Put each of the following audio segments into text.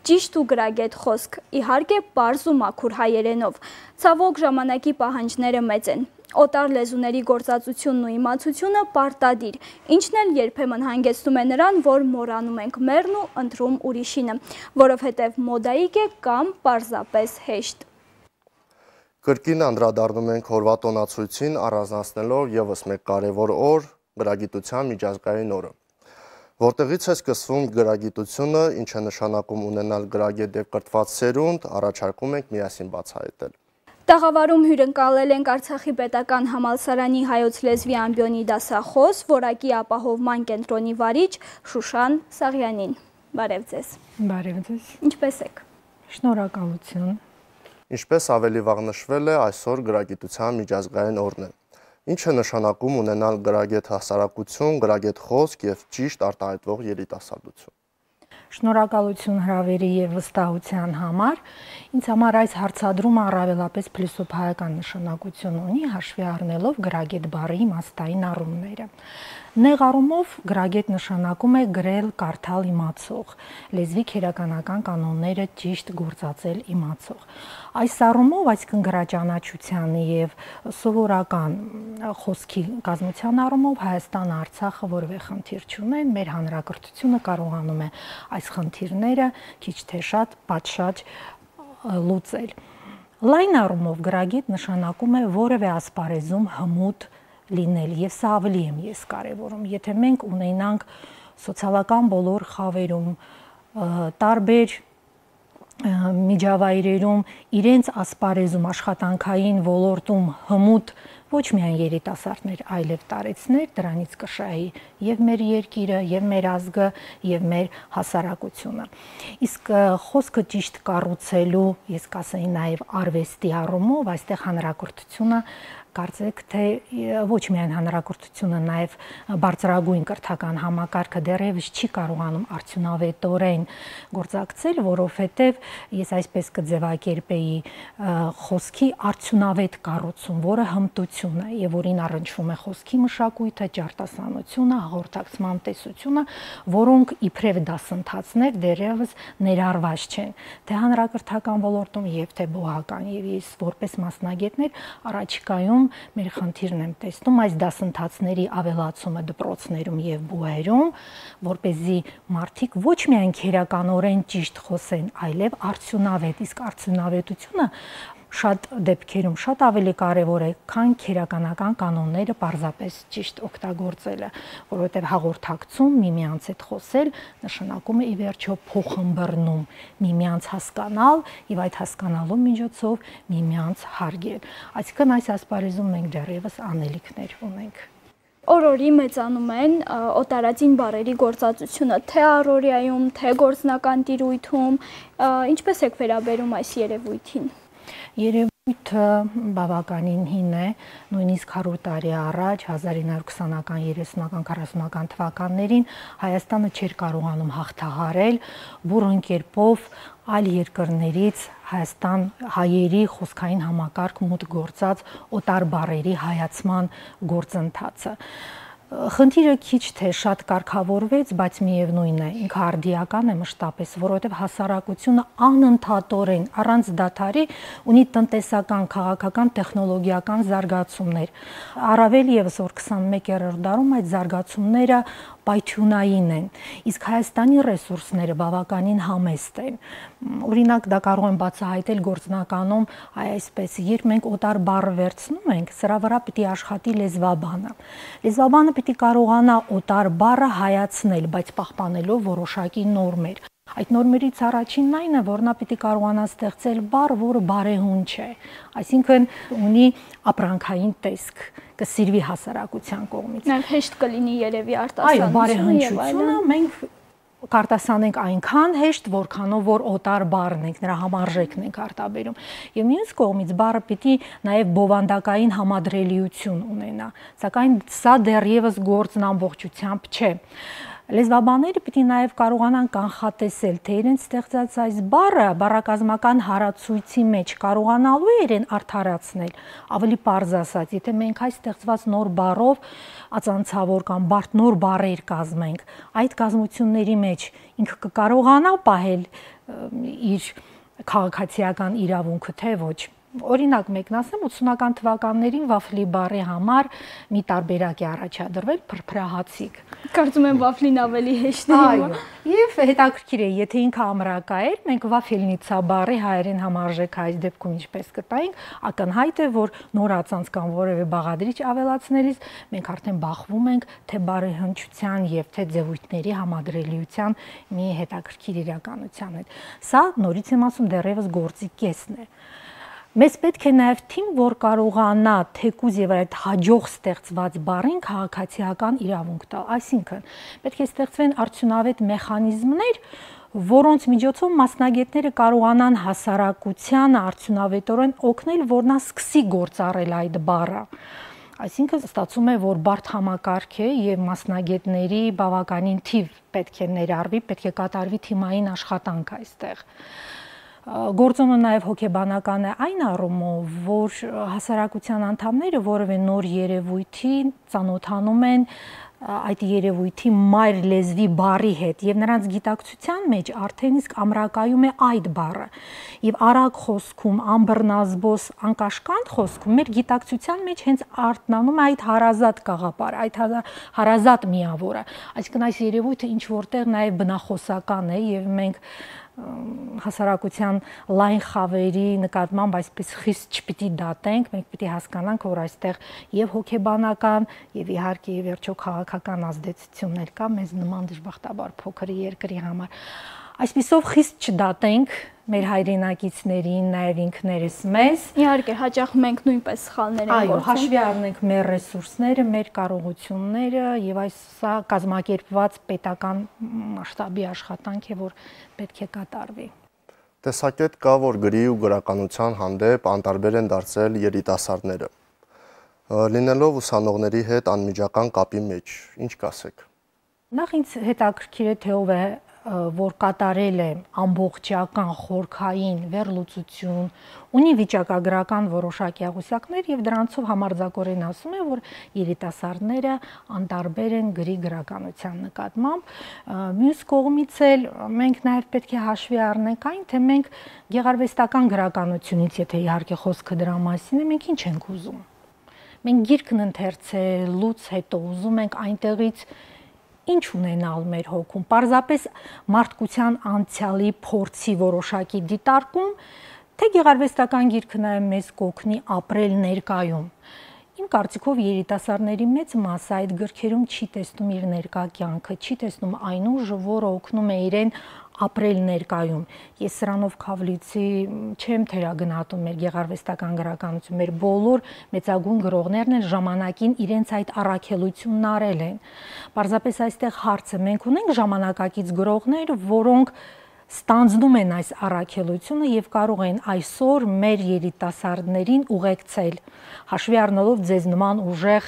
ճիշտ ու գրագետ խոսք, իհարկե պարզ ու մաքուր հայերենով։ Ցավոք ժամանակի պահանջները մեծ են։ Օտար լեզուների գործածությունն ու իմացությունը պարտադիր, ինչն էլ երբեմն հանգեցնում է նրան, որ մոռանում ենք մեռն ու ընտրում ուրիշինը, որովհետև մոդայիկ է կամ պարզապես հեշտ։ Կրկին անդրադառնում ենք հորվատոնացույցին, առանձնացնելով ևս մեկ կարևոր օր՝ գրագիտության միջազգային օրը։ Որտեղից է սկսվում գրագիտությունը, ինչ է նշանակում ունենալ գրագետ և կրթված սերունդ, առաջարկում ենք միասին բացահայտել։ Տաղավարում հյուրընկալել ենք Արցախի պետական համալսարանի հայոց լեզվի ամբիոնի դասախոս, որակի ապահովման կենտրոնի վարիչ Շուշան Սաղյանին։ Բարև ձեզ։ Բարև ձեզ։ Ինչպե՞ս եք։ Շնորհակալություն։ Ինչպես ավելի վաղ նշվել է, այսօր գրագիտության միջազգային օրն է։ Ինչ է նշանակում ունենալ գրագետ հասարակություն, գրագետ խոսք և ճիշտ արտահայտվող երիտասարդություն։ Շնորհակալություն հրավերի և վստահության համար։ Ինձ համար այս հարցադրումը առավելապես փիլիսոփայական նշանակություն ունի, հաշվի առնելով գրագետ բառի իմաստային առումները։ Նեղ առումով գրագետ նշանակում է գրել, կարդալ իմացող, լեզվի քերականական կանոնները ճիշտ գործածել իմացող։ Այս առումով, այսինքն գրաճանաչության և սովորական խոսքի կազմության առումով Հայաստանը, Արցախը որևէ խնդիր չունեն, մեր հանրակրթությունը կարողանում է այս խնդիրները քիչ թե շատ պատշաճ լուծել։ Լայն առումով գրագետ նշանակում է որևէ ասպարեզում հմուտ լինել, եւ սա ավելի եմ ես կարևորում։ Եթե մենք ունենանք սոցիալական բոլոր խավերում, տարբեր միջավայրերում իրենց ասպարեզում աշխատանքային ոլորտում հմուտ ոչ միայն երիտասարդներ, այլև տարեցներ, դրանից կշահի եւ մեր երկիրը, եւ մեր ազգը, եւ մեր հասարակությունը։ Իսկ խոսքը ճիշտ կառուցելու, ես կասեի նաեւ արվեստի առումով, այստեղ հանրակրթությունը կարծեք թե ոչ միայն հանրակրթությունը, նաև բարձրագույն կրթական համակարգը դեռևս չի կարողանում արդյունավետորեն գործակցել, որովհետև ես այսպես կձևակերպեի խոսքի արդյունավետ կառուցում, որը հմտություն է եւ որին առնչվում է խոսքի մշակույթը, ճարտասանությունը, հաղորդակցման տեսությունը, որոնք իբրև դասընթացներ դեռևս ներառված չեն թե հանրակրթական ոլորտում եւ թե բուհական, եւ ես որպես մասնագետներ առաջիկայում մեր խնդիրն եմ տեսնում այս դասընթացների ավելացումը դպրոցներում եւ բուհերում, որպեսզի մարդիկ ոչ միայն քերականորեն ճիշտ խոսեն, այլև արդյունավետ, իսկ արդյունավետությունը շատ դեպքերում շատ ավելի կարևոր է, քան քերականական կանոնները պարզապես ճիշտ օգտագործելը, որովհետև հաղորդակցում, միմյանց հետ խոսել նշանակում է ի վերջո փոխըմբռնում, միմյանց հասկանալ եւ այդ հասկանալու միջոցով միմյանց հարգել։ Այսինքն այս ասպարեզում մենք դեռևս անելիքներ ունենք։ Օր-օրի մեծանում են օտարածին բառերի գործածությունը, թե առօրյայում, թե գործնական տիրույթում, ինչպես եք վերաբերում այս երևույթին։ Երևույթը բավականին հին է, նույնիսկ 100 տարի առաջ 1920-ական, 30-ական, 40-ական թվականներին Հայաստանը չէր կարողանում հաղթահարել բուռն կերպով այլ երկրներից Հայաստան հայերի խոսքային համակարգ մուտք գործած օտար բառերի հայացման գործընթացը։ Խնդիրը քիչ թե շատ կարգավորվեց, բայց միևնույն է, ինքը արդիական է մշտապես, որովհետև հասարակությունը անընդհատորեն առանց դադարի ունի տնտեսական, քաղաքական, տեխնոլոգիական զարգացումներ։ Առավել եւս որ 21-րդ դարում այդ զարգացումները պայթյունային են, իսկ Հայաստանի ռեսուրսները բավականին համեստ են։ Օրինակ դա կարող եմ բացահայտել գործնականում այսպես, երբ մենք օտար բառը վերցնում ենք, սրա վրա պիտի աշխատի լեզվաբանը։ Լեզվաբանը պիտի կարողանա օտար բառը հայացնել, բայց պահպանելով որոշակի նորմեր։ Այդ նորմերից առաջինն այն է, որ նա պիտի կարողանա ստեղծել բառ, որը բարեհուն չէ, այսինքն ունի ապրանքային տեսք, կսիրվի հասարակության կողմից։ Նաև հեշտ կլինի երևի արտասանությունը։ Այո, բարեհնչությունը մենք կարտասանենք այնքան հեշտ, որքանով որ օտար բառն ենք, նրա համարժեքն ենք արտաբերում։ Եվ մյուս կողմից բառը պիտի նաև բովանդակային համադրելիություն ունենա, սակայն սա դեռևս գործն ամբողջությամբ չէ։ Լեզվաբանները պիտի նաև կարողանան կանխատեսել, թե իրենց ստեղծած այս բառը բառակազմական հարացույցի մեջ կարողանալու է իրեն արդարացնել, ավելի պարզ ասած, եթե մենք այս ստեղծված նոր բառով ածանցավոր կամ նոր բառեր կազմենք, այդ կազմությունների մեջ ինքը կկարողանա պահել իր քաղաքացիական իրավունքը, թե ոչ։ Օրինակ մեկն ասեմ, 80-ական թվականներին վաֆլի բառի համար մի տարբերակ է առաջադրվել փրփրահացիկ։ Կարծում եմ վաֆլին ավելի հեշտ է։ Այո, եւ հետաքրքիր է, եթե ինքը ամրակա էր, մենք վաֆելնիցա բառի հայերեն համարժեք այս դեպքում ինչպես կտայինք, ակնհայտ է, որ նորածանց կամ որևէ բաղադրիչ ավելացնելիս մենք արդեն բախվում ենք թե բառի հնչության եւ թե ձևույթների համադրելիության մի հետաքրքիր իրականության հետ։ Սա նորից եմ ասում, դեռևս գործի կեսն է։ Մեզ պետք է նաև թիմ, որ կարողանա թեկուզ եւ այդ հաջող ստեղծված բառին քաղաքացիական իրավունք տալ։ Այսինքն, պետք է ստեղծվեն արդյունավետ մեխանիզմներ, որոնց միջոցով մասնագետները կարողանան հասարակությանը արդյունավետորեն օգնել, որ նա սկսի գործառել այդ բառը։ Այսինքն ստացվում է, որ բարդ համակարգ է եւ մասնագետների բավականին թիվ պետք է ներառվի, պետք է կատարվի թիմային աշխատանք այստեղ։ Գործոնը նաև հոգեբանական է այն առումով, որ հասարակության անդամները որևէ նոր երևույթի ծանոթանում են այդ երևույթի մայր լեզվի բառի հետ եւ նրանց գիտակցության մեջ արդեն իսկ ամրակայում է այդ բառը եւ արագ խոսքում, անբռնազբոս, անկաշկանդ խոսքում մեր գիտակցության մեջ հենց արտնանում է այդ հարազատ գաղափարը, այդ հարազատ միավորը, այսինքն այս երևույթը ինչ որտեղ նաեւ բնախոսական է եւ մենք հասարակության լայն խավերի նկատմամբ այսպես խիստ չպիտի դատենք, մենք պիտի հասկանանք, որ այստեղ եւ հոգեբանական եւ իհարկե եւ վերջո քաղաքական ազդեցություններ կա մեզ նման դժբախտաբար փոքր երկրի համար։ Այսպիսով խիստ չդատենք մեր հայրենակիցներին, նաև ինքներս մեզ։ Իհարկե, հաճախ մենք նույնպես սխալներ ենք գործում։ Այո, հաշվի առնենք մեր ռեսուրսները, մեր կարողությունները եւ այս սա կազմակերպված պետական մասշտաբի աշխատանք է, որ պետք է կատարվի։ Տեսակետ կա, որ գրի ու գրականության հանդեպ անտարբեր են դարձել երիտասարդները։ Լինելով ուսանողների հետ անմիջական կապի մեջ, ինչ կասեք։ Նախ ինձ հետաքրքիր է, թե ով է որ կատարել է ամբողջական խորքային վերլուծություն, ունի վիճակագրական որոշակի աղյուսակներ եւ դրանցով համարձակորեն ասում է, որ երիտասարդները անտարբեր են գրի գրականության նկատմամբ։ Մյուս կողմից էլ մենք նաեւ պետք է հաշվի առնենք այն, թե մենք գեղարվեստական գրականությունից, եթե իհարկե խոսքը դրա մասին է, մենք ինչ ենք ուզում։ Մենք գիրքն ընթերցելուց հետո ուզում ենք այնտեղից ինչ ունենալ մեր հոգում, պարզապես մարդկության անցյալի փորձի որոշակի դիտարկում, թե գեղարվեստական գիրքը նաև մեզ կօգնի ապրել ներկայում։ Իմ կարծիքով երիտասարդների մեծ մասը այդ գրքերում չի տեսնում իր ներկա կյանքը, չի տեսնում այն ուժը, որը օգնում է իրեն ապրել ներկայում։ Ես սրանով քավլիցի չեմ թերագնահատում մեր գեղարվեստական գրականություն, մեր բոլոր մեծագույն գրողներն են ժամանակին իրենց այդ առաքելությունն արել են։ Պարզապես այստեղ հարցը մենք ունենք ժամանակակից գրողներ, որոնք ստանձնում են այս առաքելությունը եւ կարող են այսօր մեր երիտասարդներին ուղեկցել, հաշվի առնելով ձեզ նման ուժեղ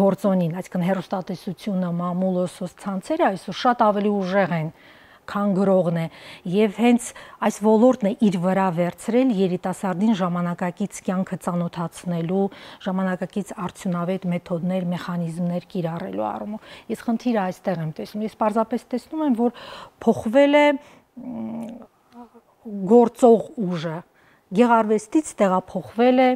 գործոնին, այսինքն հեռուստատեսությունը, մամուլը, սոցցանցերը այսօր շատ ավելի ուժեղ են, քան գրողն է, եւ հենց այս ոլորտն է իր վրա վերցրել երիտասարդին ժամանակակից կյանքը ծանոթացնելու, ժամանակակից արդյունավետ մեթոդներ, մեխանիզմներ կիրառելու առումով։ Ես խնդիրը այստեղ եմ տեսնում։ Ես պարզապես տեսնում եմ, որ փոխվել է գործող ուժը, գեղարվեստից տեղափոխվել է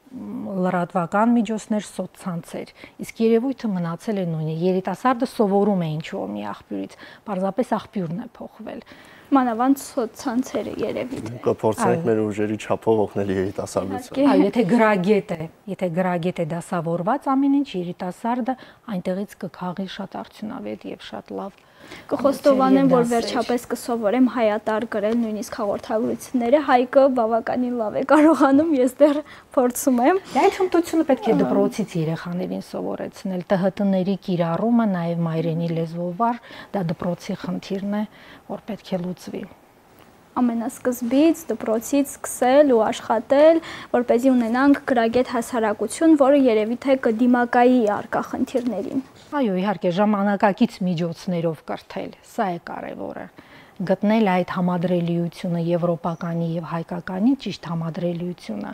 լրատվական միջոցներ, սոցցանցեր, իսկ երևույթը մնացել է նույնը։ Երիտասարդը սովորում է ինչ-որ մի աղբյուրից, պարզապես աղբյուրն է փոխվել։ Մանավանդ սոցցանցերը երևի թե։ Կփորձենք մեր ուժերի չափով օգնել երիտասարդությանը։ Այո, եթե գրագետ է դասավորված ամեն ինչ, երիտասարդը այնտեղից կքաղի շատ արդյունավետ եւ շատ լավ Կխոստովանեմ, որ վերջապես կսովորեմ հայատար գրել նույնիսկ հաղորդագրությունները, Հայկը բավականին լավ է կարողանում, ես դեռ փորձում եմ։ Այդ հմտությունը պետք է դպրոցից երեխաներին սովորեցնել, ՏՀՏ-ների կիրառումը, նաև մայրենի լեզվով, դա դպրոցի խնդիրն է, որ պետք է լուծվի։ Ամենասկզբից դպրոցից սկսել ու աշխատել, որպեսզի ունենանք գրագետ հասարակություն, որը երևի թե կդիմակայի առկա խնդիրներին։ Այո, իհարկե, ժամանակակից միջոցներով կրթել, սա է կարևորը։ Գտնել այդ համադրելիությունը եվրոպականի եւ հայկականի ճիշտ համադրելիությունը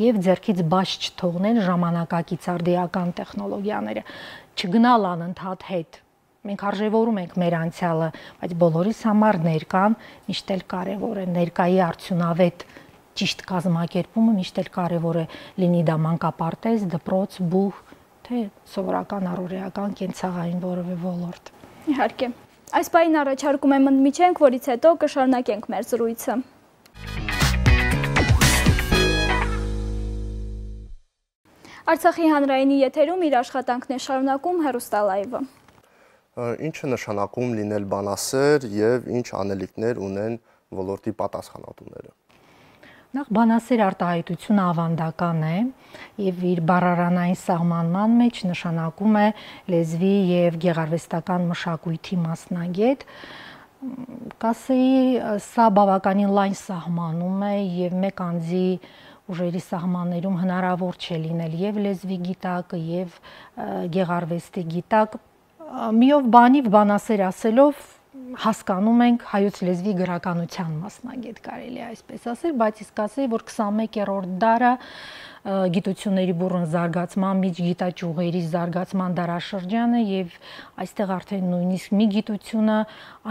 եւ ձեռքից բաց չթողնել ժամանակակից արդիական տեխնոլոգիաները, չգնալ անընդհատ հետ։ մենք արժևորում ենք մեր անցյալը, բայց բոլորիս համար ներկան միշտ էլ կարևոր է, ներկայի արդյունավետ ճիշտ կազմակերպումը միշտ էլ կարևոր է, լինի դա մանկապարտեզ, դպրոց, բուհ, թե սովորական առօրեական կենցաղային որևէ ոլորտ։ Իհարկե։ Այս պահին առաջարկում եմ ընդմիջենք, որից հետո կշարունակենք մեր զրույցը։ Արցախի հանրայինի եթերում իր աշխատանքն է շարունակում հեռուստալայվը։ Ինչը նշանակում լինել բանասեր եւ ինչ անելիքներ ունեն ոլորտի պատասխանատուները։ Նախ բանասեր արտահայտությունը ավանդական է եւ իր բառարանային սահմանման մեջ նշանակում է լեզվի եւ գեղարվեստական մշակույթի մասնագետ։ Կասեի, սա բավականին լայն սահմանում է եւ մեկ անձի ուժերի սահմաններում հնարավոր չէ լինել եւ լեզվի գիտակ եւ գեղարվեստի գիտակ։ Միով բանիվ բանասեր ասելով հասկանում ենք հայոց լեզվի գրականության մասնագետ կարելի է այսպես ասել, բայց իսկ ասեի, որ 21-րդ դարը գիտությունների բուռն զարգացման, միջգիտաճյուղերի զարգացման դարաշրջանը եւ այստեղ արդեն նույնիսկ մի գիտությունը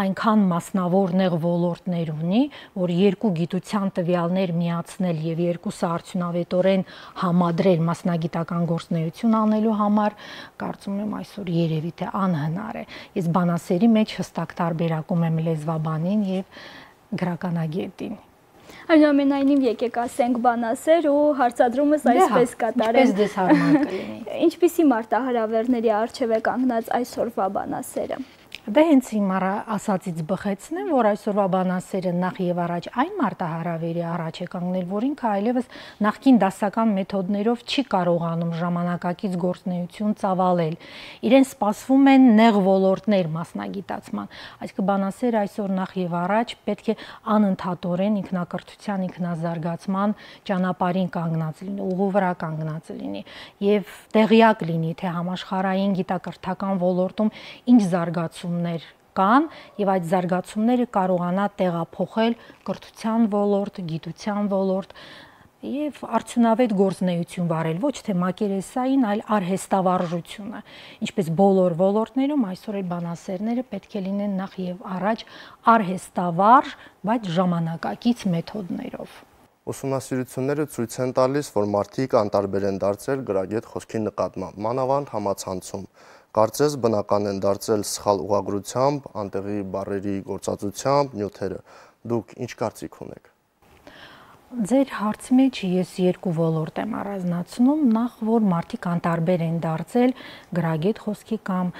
այնքան մասնավոր նեղ ոլորտներ ունի, որ երկու գիտության տվյալներ միացնել եւ երկուսը արդյունավետորեն համադրել մասնագիտական գործունեություն անելու համար, կարծում եմ այսօր երևի թե անհնար է։ Ես բանասերի մեջ հստակ տարբերակում եմ լեզվաբանին եւ գրականագետին։ Այնուամենայնիվ եկեք ասենք բանասեր ու հարցադրումս այսպես կատարենք։ Ինչպես դες հարմար կլինի։ Ինչպիսի մարտահրավերների առջև է կանգնած այսօրվա բանասերը։ Դե հենց իմ ասածից բխեցնեմ, որ այսօրվա բանասերը նախ եւ առաջ այն մարտահրավերի առաջ է կանգնել, որ ինքը այլևս նախկին դասական մեթոդներով չի կարողանում ժամանակակից գործունեություն ծավալել։ Իրեն սպասվում են նեղ ոլորտներ մասնագիտացման։ Այսինքն բանասերը այսօր նախ եւ առաջ պետք է անընդհատորեն ինքնակրթության, ինքնազարգացման ճանապարհին կանգնած լինի, ուղու վրա կանգնած լինի եւ տեղյակ լինի, թե համաշխարհային գիտակրթական ոլորտում ինչ զարգացումներ կան եւ այդ զարգացումները կարողանա տեղափոխել կրթության ոլորտ, գիտության ոլորտ եւ արդյունավետ գործունեություն վարել, ոչ թե մակերեսային, այլ արհեստավարժությունը։ Ինչպես բոլոր ոլորտներում այսօր էլ բանասերները պետք է լինեն նախ եւ առաջ արհեստավարժ, բայց ժամանակակից մեթոդներով։ Ուսումնասիրությունները ցույց են տալիս, որ մարդիկ անտարբեր են դարձել գրագետ խոսքի նկատմամբ, մանավանդ համացանցում։ Կարծես բնական են դարձել սխալ ուղղագրությամբ, անտեղի բառերի գործածությամբ, նյութերը։ Դուք ինչ կարծիք ունեք։ Ձեր հարցի մեջ ես երկու ոլորտ եմ առանձնացնում, նախ որ մարդիկ անտարբեր են դարձել գրագետ խոսքի կամ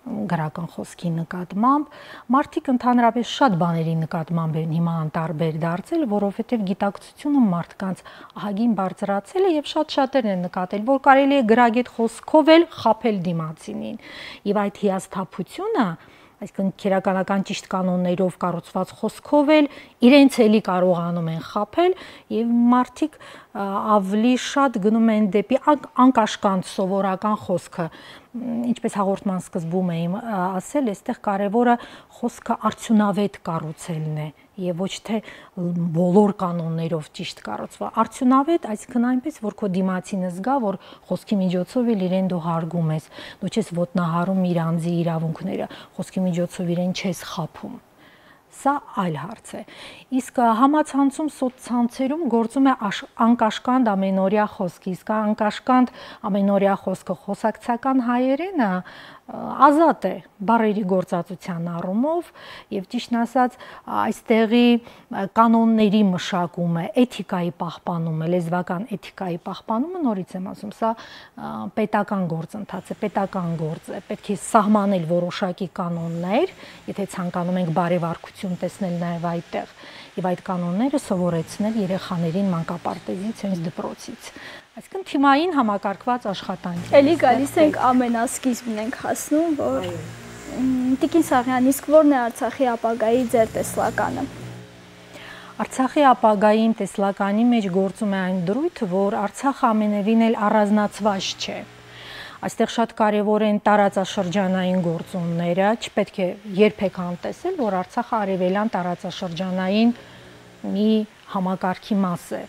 գրական խոսքի նկատմամբ, մարդիկ ընդհանրապես շատ բաների նկատմամբ են հիմա անտարբեր դարձել, որովհետև գիտակցությունը մարդկանց ահագին բարձրացել է եւ շատ-շատերն են նկատել, որ կարելի է գրագետ խոսքով էլ խաբել դիմացինին։ Եվ այդ հիասթափությունը, այսինքն քերականական ճիշտ կանոններով կառուցված խոսքով էլ իրենց էլի կարողանում են խաբել եւ մարդիկ ավելի շատ գնում են դեպի անկաշկանդ սովորական խոսքը։ Ինչպես հաղորդման սկզբում էի ասել, այստեղ կարևորը խոսքը արդյունավետ կառուցելն է եւ ոչ թե բոլոր կանոններով ճիշտ կառուցվա։ Արդյունավետ, այսինքն այնպես, որ քո դիմացինը զգա, որ խոսքի միջոցով էլ իրեն դու հարգում ես, դու չես ոտնահարում իր անձի իրավունքները, խոսքի միջոցով իրեն չես խաբում։ Սա այլ հարց է։ Իսկ համացանցում սոցցանցերում գործում է անկաշկանդ ամենօրյա խոսք, իսկ անկաշկանդ ամենօրյա խոսքը խոսակցական հայերենը ազատ է բառերի գործածության առումով եւ ճիշտն ասած այստեղի կանոնների մշակումը, էթիկայի պահպանումը, լեզվական էթիկայի պահպանումը, նորից եմ ասում, սա պետական գործընթաց է, պետական գործ է, պետք է սահմանել որոշակի կանոններ, եթե ցանկանում ենք բարեվարկություն տեսնել նաեւ այդտեղ եւ այդ կանոնները սովորեցնել երեխաներին մանկապարտեզից, հենց դպրոցից։ Այսինքն թիմային համակարգված աշխատանք։ Էլի գալիս ենք ամենասկիզբն ենք հասնում, որ Տիկին Սաղյան, իսկ ո՞րն է Արցախի ապագայի ձեր տեսլականը։ Արցախի ապագային տեսլականի մեջ գործում է այն դրույթը, որ Արցախը ամենևին էլ առանձնացված չէ։ Այստեղ շատ կարևոր են տարածաշրջանային գործոնները, չպետք է երբեք անտեսել, որ Արցախը արևելյան տարածաշրջանային մի համակարգի մաս է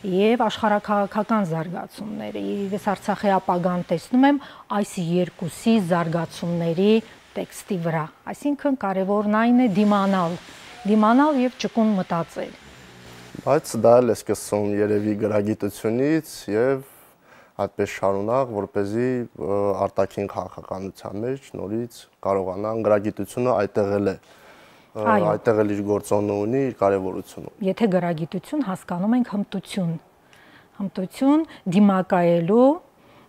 եւ աշխարհաքաղաքական զարգացումները։ Ես Արցախի ապագան տեսնում եմ այս երկուսի զարգացումների տեքստի վրա, այսինքն կարևորն այն է դիմանալ եւ ճկուն մտածել։ Բայց դա էլ է սկսում երևի գրագիտությունից եւ այդպես շարունակ, որպեսզի արտաքին քաղաքականության մեջ նորից կարողանան գրագիտությունը այդտեղել է։ Այդտեղ էլ իր գործոնը ունի, իր կարևորությունը։ Եթե գրագիտություն հասկանում ենք հմտություն դիմակայելու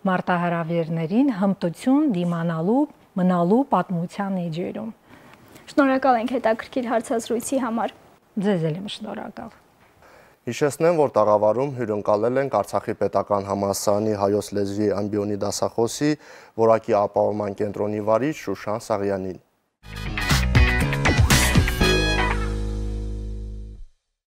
մարտահրավերներին, հմտություն դիմանալու, մնալու պատմության էջերում։ Շնորհակալ ենք հետաքրքիր հարցազրույցի համար։ Ձեզ էլ եմ շնորհակալ։ Հիշեցնեմ, որ տաղավարում հյուրընկալել ենք Արցախի պետական համալսարանի հայոց լեզվի ամբիոնի դասախոսի որակի ապահովման կենտրոնի վարիչ Շուշան Սաղյանին։